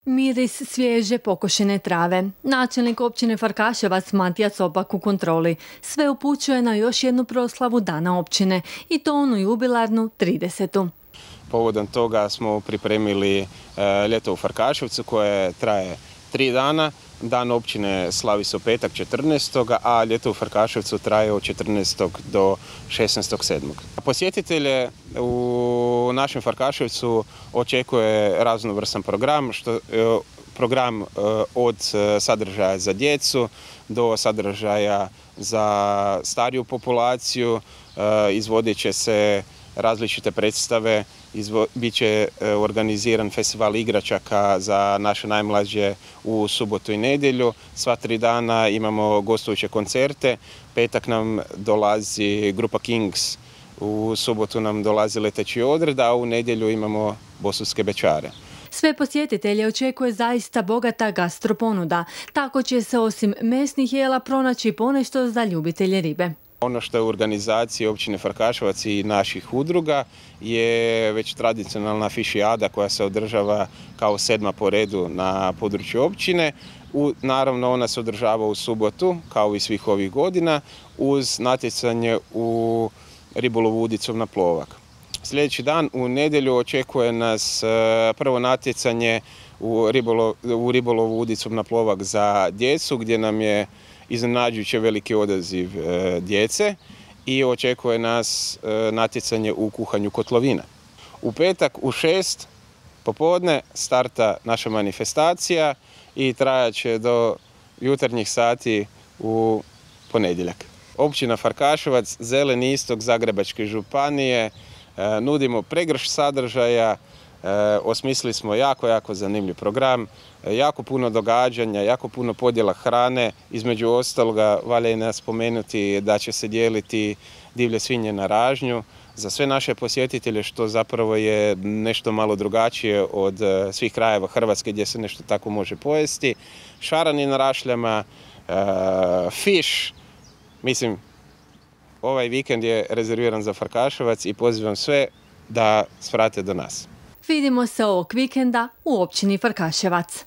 Miris svježe pokošene trave. Načelnik općine Farkaševac Matija Copak u kontroli. Sve upućuje na još jednu proslavu Dana općine i to onu jubilarnu 30. Povodom toga smo pripremili ljeto u Farkaševcu koje traje 3 dana. Dan općine slavi se u petak 14. a ljeto u Farkaševcu traje od 14. do 16.7. Posjetitelje u našem Farkaševcu očekuje raznovrstan program od sadržaja za djecu do sadržaja za stariju populaciju. Izvodit će se različite predstave, bit će organiziran festival igračaka za naše najmlađe u subotu i nedjelju. Sva 3 dana imamo gostujuće koncerte. Petak nam dolazi grupa Kings, u subotu nam dolazi Leteći odred, a u nedjelju imamo Bosanske bećare. Sve posjetitelje očekuje zaista bogata gastroponuda. Tako će se osim mesnih jela pronaći ponešto za ljubitelje ribe. Ono što je u organizaciji općine Farkaševac i naših udruga je već tradicionalna fišijada koja se održava kao 7. po redu na području općine. Naravno, ona se održava u subotu, kao i svih ovih godina, uz natjecanje u ribolovu udicom na plovak. Sljedeći dan u nedjelju očekuje nas prvo natjecanje u ribolovu udicom na plovak za djecu, gdje nam je iznenađujuće veliki odaziv djece i očekuje nas natjecanje u kuhanju kotlovina. U petak u 6 popodne starta naša manifestacija i trajat će do jutarnjih sati u ponedjeljak. Općina Farkaševac, zeleni istok Zagrebačke županije, nudimo pregršt sadržaja, osmislili smo jako zanimljiv program, jako puno događanja, jako puno podjela hrane. Između ostaloga valja i spomenuti da će se dijeliti divlje svinje na ražnju za sve naše posjetitelje, što zapravo je nešto malo drugačije od svih krajeva Hrvatske gdje se nešto tako može pojesti. Šarani na rašljama, fiš. Mislim, ovaj vikend je rezerviran za Farkaševac i pozivam sve da svrate do nas. Vidimo se ovog vikenda u općini Farkaševac.